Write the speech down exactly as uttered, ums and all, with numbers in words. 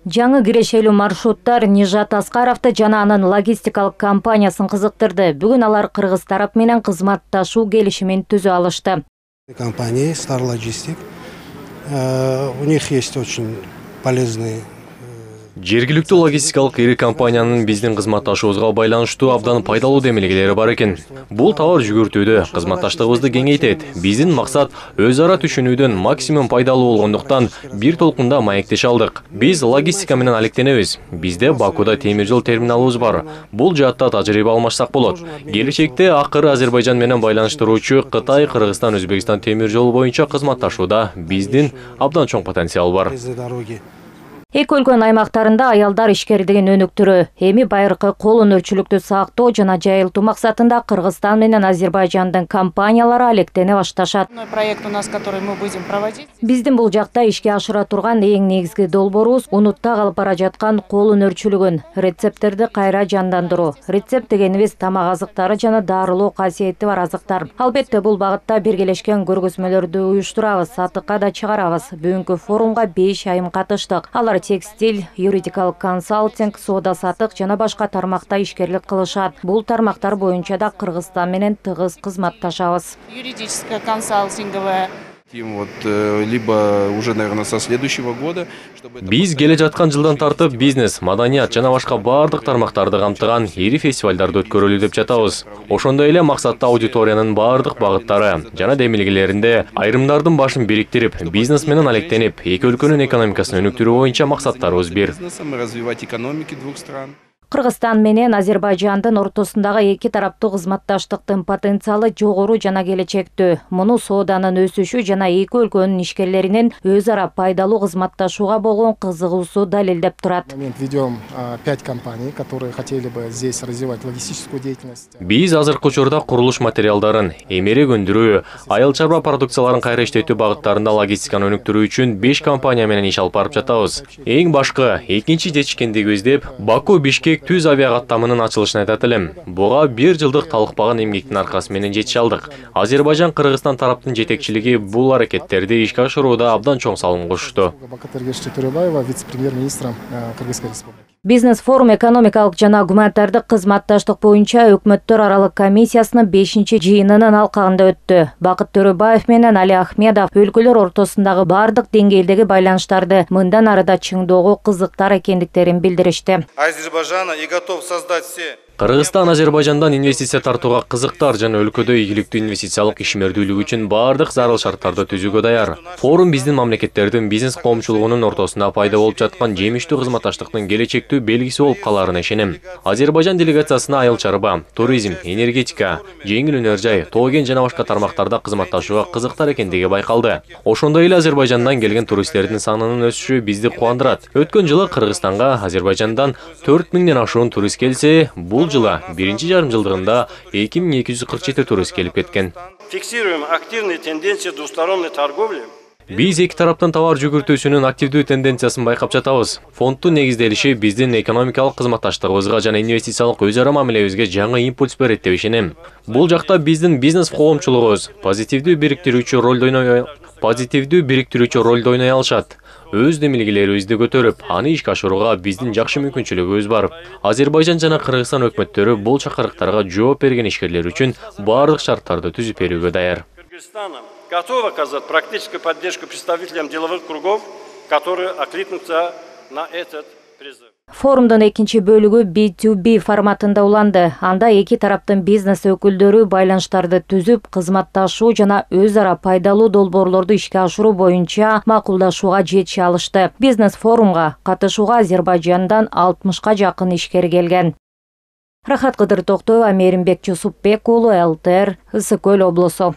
Жаңы кирешелүү маршруттар Нижат Аскаровду жана анын логистикалык компаниясын кызыктырды. Бүгүн алар Кыргыз тарап менен кызматташуу келишимин түзө алышты. Компания Star Logistic, у них есть очень полезные. Жергиликтүү логистикалык ири компаниянын биздин кызматташуубузга байланыштуу абдан пайдалуу демилгелери бар экен. Бул товар жүгүртүүдө кызматташтыгыбызды кеңейтет. Биздин максат өз ара түшүнүүдөн максимум пайдалуу болгондуктан бир толкунда маектеше алдык. Биз логистика менен алектенебиз. Бизде Бакуда темир жол терминалыбыз бар. Бул жаатта тажрыйба алмашсак болот. Келечекте акыры Азербайжан менен байланыштыруучу Кытай, Кыргызстан, Өзбекстан темир жолу боюнча кызматташууда биздин абдан чоң потенциал бар. Эки өлкөнүн аймактарында аялдар ишкердигин өнүктүрүү, эми байыркы кол өнөрчүлүктү сактоо жана жайылтуу максатында Кыргызстан менен Азербайжандын компаниялары алектене башташат. Биздин бул жакта ишке ашыра турган эң негизги долбоорубуз унутта калып бара жаткан кол өнөрчүлүгүн, рецепттерди кайра жандандыруу. Рецепт дегенибиз тамак азыктары жана дарылоо касиети бар азыктар. Албетте бул багытта биргелешкен көргөзмөлөрдү уюштурабыз, сатыкка да чыгарабыз. Бүгүнкү форумга беш айым катыштык. Алар текстиль, юридикалык консалтинг, соода сатык жана башка тармакта ишкерлик кылышат. Бул тармактар боюнча да Кыргызстан менен тыгыз кызматташабыз. Юридическая консалтинговая. Вот, либо уже, наверное, со следующего года, чтобы... Биз келе жаткан жылдан тартып бизнес, маданият жана башка бардык тармактарды камтыган ири фестивалдарды өткөрөлү деп жатабыз. Ошондой эле максатта аудиториянын бардык багыттары жана демилгелеринде айрымдардын башын бириктирип, бизнес менен алектенип, эки өлкөнүн экономикасын өнүктүрүү боюнча максаттарыбыз бир. Развивать экономики двух стран. Кыргызстан менен Азербайжандын ортосундагы эки тараптуу кызматташтыктын потенциалы жогору жана келечектүү. Муну сооданын өсүшү жана эки өлкөнүн ишкерлеринин өз ара пайдалуу кызматташууга болгон кызыгуусу далилдеп турат. Ведем пять компаний, которые хотели бы здесь развивать логистическую деятельность. Биз азыркы учурда курулуш материалдарын, эмерек өндүрүү, айыл чарба продукцияларын кайра иштетүү багыттарында логистиканы өнүктүрүү үчүн беш компания менен иш алып барып жатабыз. Эң башкы экинчи жетишкендиги издеп Баку Бишкек түз авиа каттамынын ачылышын айтат элем. Буга бир жылдык талыкпаган эмгектин аркасы менен жетише алдык. Азербайжан, Кыргызстан тараптын жетекчилиги бул аракеттерди ишке ашырууда абдан чоң салым кошту. Бизнес форум экономикалык жана гуманитардык кызматташтык боюнча өкмөттөр аралык комиссиясынын бешинчи жыйынынын алкагында өттү. Бакыт Төрөбаев менен Али Ахмедов өлкөлөр ортосундагы бардык деңгээлдеги байланыштарды мындан ары да чыңдоого кызыктар экендиктерин билдиришти. Азербайжан и готов создать все. Кыргызстан Азербайжандан инвестиция тартууга кызыктар жана өлкөдө ийгиликтүү инвестициялык ишмердүүлүк үчүн бардык зарыл шарттарды түзүүгө даяр. Форум биздин мамлекеттердин бизнес коомчулугунун ортосунда пайда болуп жаткан жемиштүү кызматташтыктын келечектүү белгиси болуп каларына ишенем. Азербайжан делегациясына айыл чарба, туризм, энергетика, жеңил өнөр жай, тоо кен жана башка тармактарда кызматташууга кызыктар экендиги байкалды. Ошондой эле Азербайжандан келген туристтердин санынын өсүшү бизди кубандырат. Өткөн жылы Кыргызстанга Азербайжандан төрт миңден ашуун турист келсе, бул жылы биринчи жарым жылдыгында эки миң эки жүз кырк жети турист келип кеткен. Фиксируем активные тенденции двусторонней торговли. Биз эки тараптын товар жүгүртүүсүнүн активдүү тенденциясын байкап жатабыз. Фонддун негизделиши биздин экономикалык кызматташтыгыбызга жана инвестициялык өз ара мамилебизге жаңы импульс берет деп ишенем. Бул жакта биздин бизнес коомчулугубуз позитивдүү бириктирүүчү ролду ойной позитивдүү бириктирүүчү ролду ойной алышат. Өз демилгелерибизди көтөрүп, аны ишке ашырууга биздин жакшы мүмкүнчүлүгүбүз бар. Азербайжан жана Кыргызстан өкмөттөрү бул чакырыктарга жооп берген ишкерлер үчүн бардык шарттарды түзүп берүүгө даяр. Кыргызстан готов оказать практическую поддержку представителям деловых кругов, которые откликнутся на этот призыв. Форумдун экинчи бөлүгү би ту би форматында уланды. Анда эки тараптын бизнес өкүлдөрү байланыштарды түзүп, кызматташуу жана өз ара пайдалуу долбоорлорду ишке ашыруу боюнча макулдашууга жетише алышты. Бизнес форумга катышууга Азербайжандан алтымышка жакын ишкер келген. Рахат Кыдыр Токтоева, Мээринбек Жусупбек уулу, эл тэ эр, Ысык Көл облусу.